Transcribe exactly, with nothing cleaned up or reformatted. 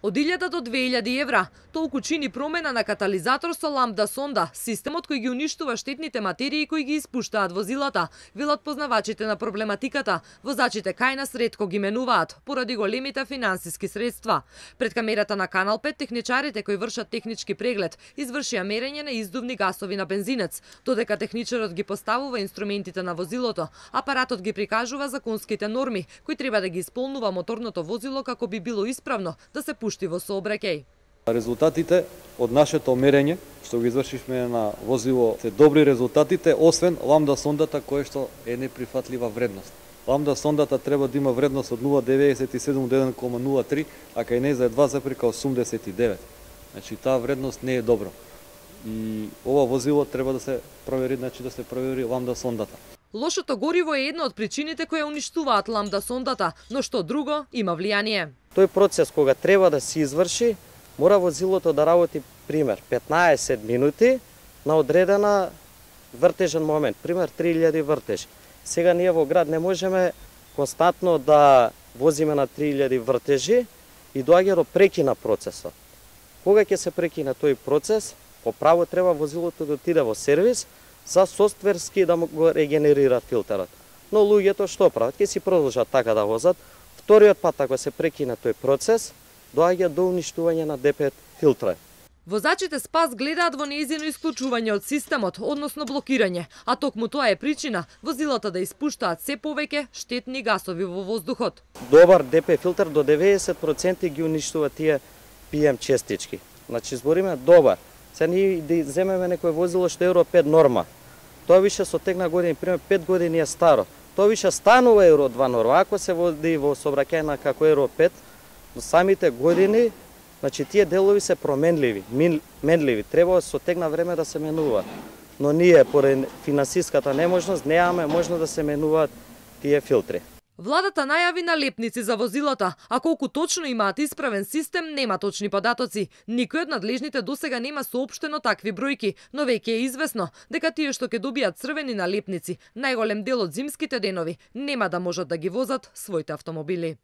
Од илјада до две илјади евра, толку чини промена на катализатор со ламда сонда, системот кој ги уништува штетните материи кои ги испуштаат возилата, велат познавачите на проблематиката. Возачите кај нас ретко ги менуваат, поради големите финансиски средства. Пред камерата на Канал пет, техничарите кои вршат технички преглед, извршија мерење на издувни гасови на бензинец, додека техничарот ги поставува инструментите на возилото, апаратот ги прикажува законските норми, кои треба да ги исполнува моторното возило како би било исправно да се пушти во сообраќај. Резултатите од нашето мерење, што го извршивме на возило, се добри резултатите, освен ламда сондата која што е неприфатлива вредност. Ламда сондата треба да има вредност од нула целу деветдесет и седум до еден целу нула три, а кај неја е два целу осумдесет и девет. Значи таа вредност не е добро. И ова возило треба да се провери, значи да се провери ламда сондата. Лошото гориво е една од причините кои уништуваат ламда сондата, но што друго има влијание. Тој процес кога треба да се изврши, мора возилото да работи пример петнаесет минути на одредена вртежен момент, пример три илјади вртежи. Сега ние во град не можеме константно да возиме на три илјади вртежи и доаѓа до прекина процесот. Кога ќе се прекине тој процес, по право треба возилото да отиде во сервис за софтверски да го регенерира филтерот. Но луѓето што прават? Ќе си продолжат така да возат. Вториот пат, ако се прекине тој процес, доаѓа до уништување на Д пет филтра. Возачите СПАС гледаат во нејзино исклучување од системот, односно блокирање, а токму тоа е причина возилата да испуштаат се повеќе штетни гасови во воздухот. Добар Д П филтер до деветдесет проценти ги уништува тие Пи Ем честички. Значи збориме добар. Се ние да земеме некој возило што Евро пет норма. Тоа више со тек на години, пример пет години е старо. Тоа више станува Евро два норма, ако се води во сообраќајна како Евро пет, но самите години, значи тие делови се променливи, менливи, треба со тек на време да се менуваат. Но ние, поради финансиската неможност, немаме можност да се менуваат тие филтри. Владата најави налепници за возилата, а колку точно имаат исправен систем, нема точни податоци. Никој од надлежните досега нема соопштено такви бројки, но веќе е известно дека тие што ќе добијат црвени налепници, најголем дел од зимските денови, нема да можат да ги возат своите автомобили.